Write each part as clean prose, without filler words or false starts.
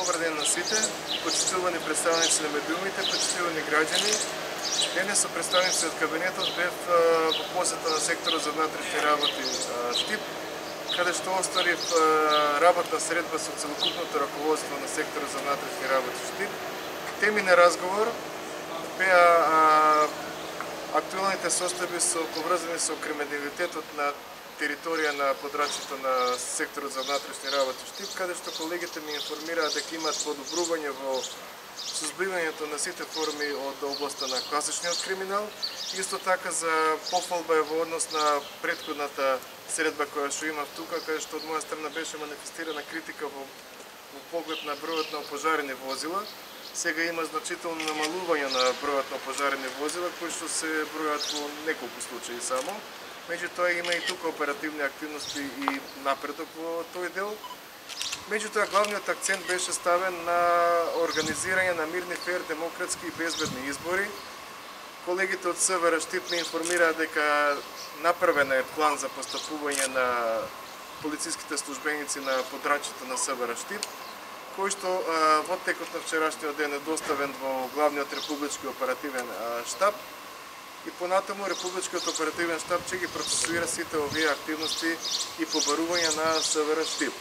Добар ден на сите, почитувани представници на медиумите, почитувани граѓани. Денес со представници од кабинетот бев во посета на секторот за внатрешни работи Штип, каде што остварив работна средба со целокупното раководство на секторот за внатрешни работи Штип. Теми на разговор беа актуелните состојби поврзани со криминалитетот на територија на подрачјето на секторот за внатрешни работи Штип, каде што колегите ми информираат дека имаат подобрување во сузбивањето на сите форми од областа на класичниот криминал. Исто така за пофалба е во однос на претходната средба која што имав тука, каде што од моја страна беше манифестирана критика во поглед на бројот на опожарени возила. Сега има значително намалување на бројот на опожарени возила, кои што се бројат во неколку случаи само. Меѓутоа има и тука оперативни активности и напредок во тој дел. Меѓутоа главниот акцент беше ставен на организирање на мирни, фер, демократски и безбедни избори. Колегите од СВР Штип ме информираат дека направен е план за постапување на полициските службеници на подрачјето на СВР Штип, кој што во текот на вчерашниот ден е доставен во главниот републички оперативен штаб. И понатаму Републичкиот оперативен штаб ќе ги процесуира сите овие активности и побарувања на СВР Штип.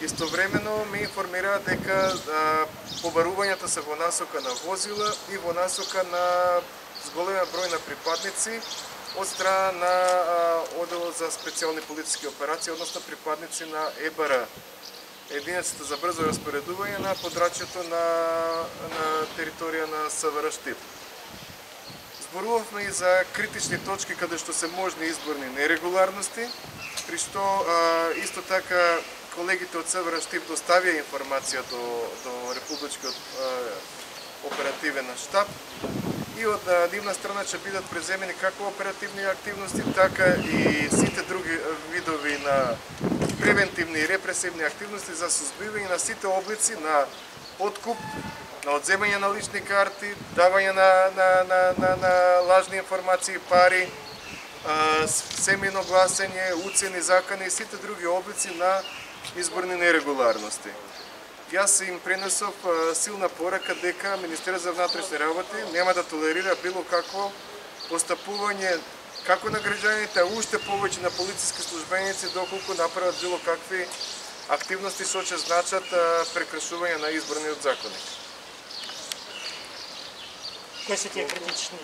Истовремено ме информираат дека побарувањата се во насока на возила и во насока на зголемен број на припадници од страна на Оделот за специјални полициски операции, односно припадници на ЕБР, единицата за брзо распоредување на подрачјето на територија на СВР Штип. Зборувавме и за критични точки каде што се можни изборни нерегуларности, при што исто така колегите од СВР Штип доставија информација до Републичкиот оперативен штаб и од нивна страна ќе бидат преземени како оперативни активности, така и сите други видови на превентивни и репресивни активности за сузбивање на сите облици на откуп, на одземање на лични карти, давање на лажни информации, пари, семејно гласење, уцени, закани и сите други облици на изборни нерегуларности. Јас им пренесов силна порака дека Министерството за внатрешни работи нема да толерира било какво постапување како на граѓаните, а уште повеќе на полициски службеници доколку направат било какви активности што ќе значат прекршување на изборниот законник. Кои се тие критични